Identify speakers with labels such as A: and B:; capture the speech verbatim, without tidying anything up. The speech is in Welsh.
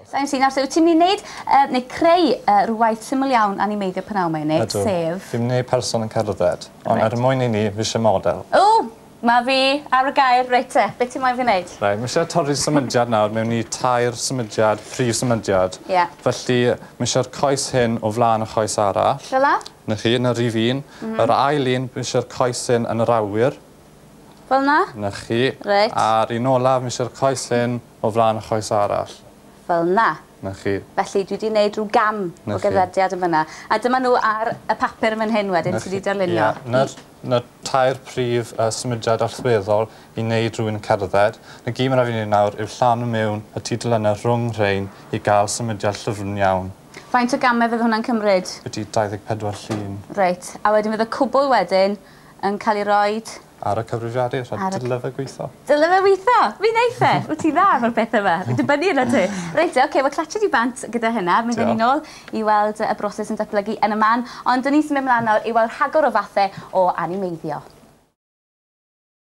A: Da iawn ti. Nawr, so, wyt ti'n mynd i wneud, uh, neu creu uh, rhyw syml iawn animeiddio pnawn 'ma i wneud, sef...
B: Fi'n mynd i wneud person yn cerdded, ond
A: Reit.
B: er mwyn i ni, fi eisiau model.
A: O, mae fi ar y gair, reit te. Beth ti'n moyn fi wneud?
B: Reit, mae eisiau torri symudiad nawr mewn i tair symudiad, prif symudiad.
A: Ie.
B: Felly, mae eisiau'r coes hyn o flaen y choes arall.
A: Fel 'na?
B: Na chi, na rhif un. Mm -hmm. Yr ail un, mae eisiau'r coes hyn yn yr awyr.
A: Fel 'na?
B: Na chi.
A: Reit.
B: A'r un olaf, mae eisiau'r coes hyn o flaen y choes arall.
A: Fel 'na.
B: Na chi.
A: Felly dwi wedi gwneud rhyw gam
B: Na
A: o
B: chi.
A: gerddediad yn fyna. A dyma nhw ar y papur yn fan hyn wedyn,
B: Na
A: ti wedi
B: chi.
A: darlunio.
B: Ie, Na'r na tair prif uh, symudiad allweddol i wneud rhywun yn cerdded. Na gyd mae'n rhaid i ni nawr yw llanw mewn y tudalennau rhwng rhain i gael symudiad llyfn iawn.
A: Faint o gamau fydd hwnna'n cymryd?
B: Ydy dau ddeg pedwar llun.
A: Reit. A wedyn fydd y cwbl wedyn yn cael ei roed
B: ar y cyfrifiadur, a
A: Ar y-
B: dyle fe gweithio.
A: Dyle fe weithio? Mi wneith e. Wyt ti'n dda efo'r peth yma. Fi'n dibynnu arno ti. Reit, oce, okay, wel clatsio di bant gyda hynna. Mi fyddwn ni nôl i weld y broses yn datblygu yn y man. Ond dyn ni sy'n mynd mlaen nawr i weld rhagor o fathau o animeiddio.